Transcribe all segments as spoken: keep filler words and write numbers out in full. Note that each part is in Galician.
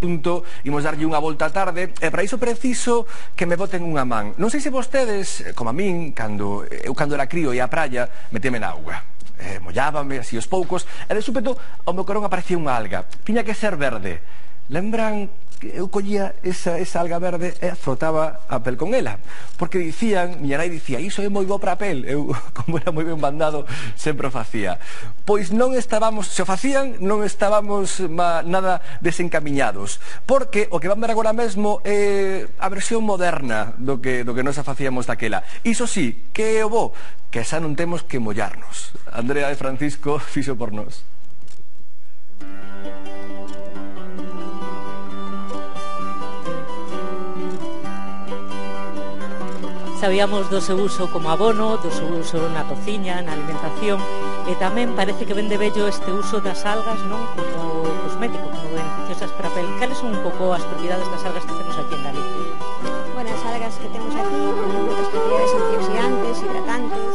punto, imos darlle unha volta á tarde, e para iso preciso que me boten unha man. Non sei se vostedes, como a min, cando eu cando era crío e a praia, meteme na auga. Eh, mollábame así os poucos, e de súpeto ao meu carón aparecía unha alga. Tiña que ser verde. Lembran que eu collía esa, esa alga verde e frotaba a pel con ela, porque dicían, miña nai dicía, iso é moi bo para a pel. Eu, como era moi ben bandado, sempre o facía. Pois non estábamos, se o facían, non estábamos ma, nada desencamiñados, porque o que van ver agora mesmo é a versión moderna do que, do que nos facíamos daquela. Iso sí, que é o bo, que xa non temos que mollarnos. Andrea e Francisco fixo por nós. Sabíamos do seu uso como abono, do seu uso na cociña, na alimentación, e tamén parece que ven de vello este uso das algas, non, como cosmético, como beneficiosas para a pel. Cales son un pouco as propiedades das algas que temos aquí en Galicia? Bueno, as algas que temos aquí teñen moitas propiedades antioxidantes, hidratantes,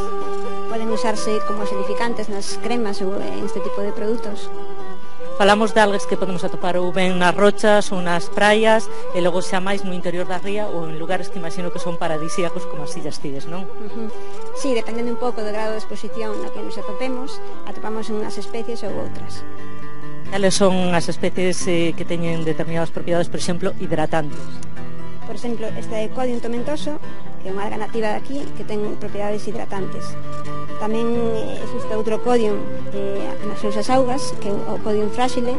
poden usarse como acidificantes nas cremas ou en este tipo de produtos. Falamos de algas que podemos atopar ou ben nas rochas ou nas praias, e logo xa máis no interior da ría ou en lugares que imagino que son paradisíacos como as Illas Cíes, non? Uh-huh. Sí, dependendo un pouco do grado de exposición no que nos atopemos, atopamos unhas especies ou outras. Cales son as especies eh, que teñen determinadas propiedades, por exemplo, hidratantes? Por exemplo, esta é Codium tomentoso, que é unha alga nativa de aquí que ten propiedades hidratantes. Tamén eh, existe outro Codium eh, nas súas augas, que é o Codium frágile,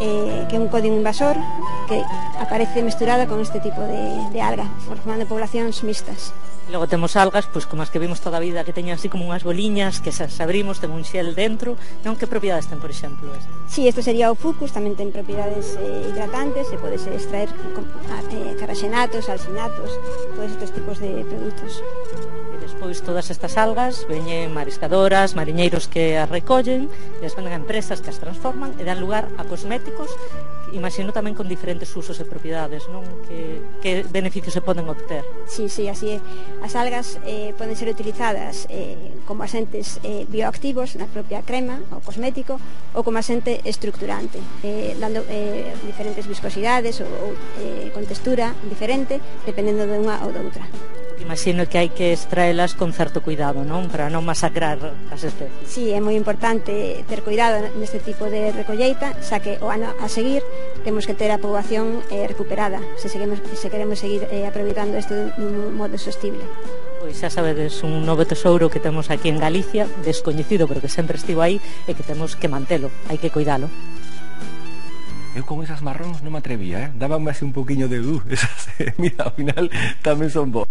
eh, que é un Codium invasor que aparece mesturada con este tipo de, de alga, formando poblacións mixtas. Logo temos algas, pois como as que vimos toda a vida, que teñen así como unhas boliñas, que se abrimos, ten un xel dentro, non? Que propiedades ten, por exemplo, este? Sí, isto sería o Fucus, tamén ten propiedades eh, hidratantes, e podese extraer eh, carraxenatos, alcinatos, todos estes tipos de produtos. E despois todas estas algas veñen mariscadoras, mariñeiros que as recollen, e as venden a empresas que as transforman e dan lugar a cosméticos, imagino tamén con diferentes usos e propiedades, non? Que, que beneficios se poden obter? Sí, sí, así é. As algas eh, poden ser utilizadas eh, como asentes eh, bioactivos na propia crema ou cosmético, ou como asente estructurante, eh, dando eh, diferentes viscosidades ou, ou eh, con textura diferente, dependendo de unha ou de outra. Imagino que hai que extraelas con certo cuidado, non? Para non masacrar as especies. Sí, é moi importante ter cuidado neste tipo de recolleita, xa que o ano a seguir temos que ter a poboación eh, recuperada, se, seguimos, se queremos seguir eh, aproveitando isto dun modo sostible. Pois xa sabedes, un novo tesouro que temos aquí en Galicia, descoñecido, pero que sempre estivo aí, e que temos que mantelo, hai que cuidalo. Eu con esas marróns non me atrevía, eh? Dábame así un poquinho de uh, esas, eh, mira, ao final tamén son bo.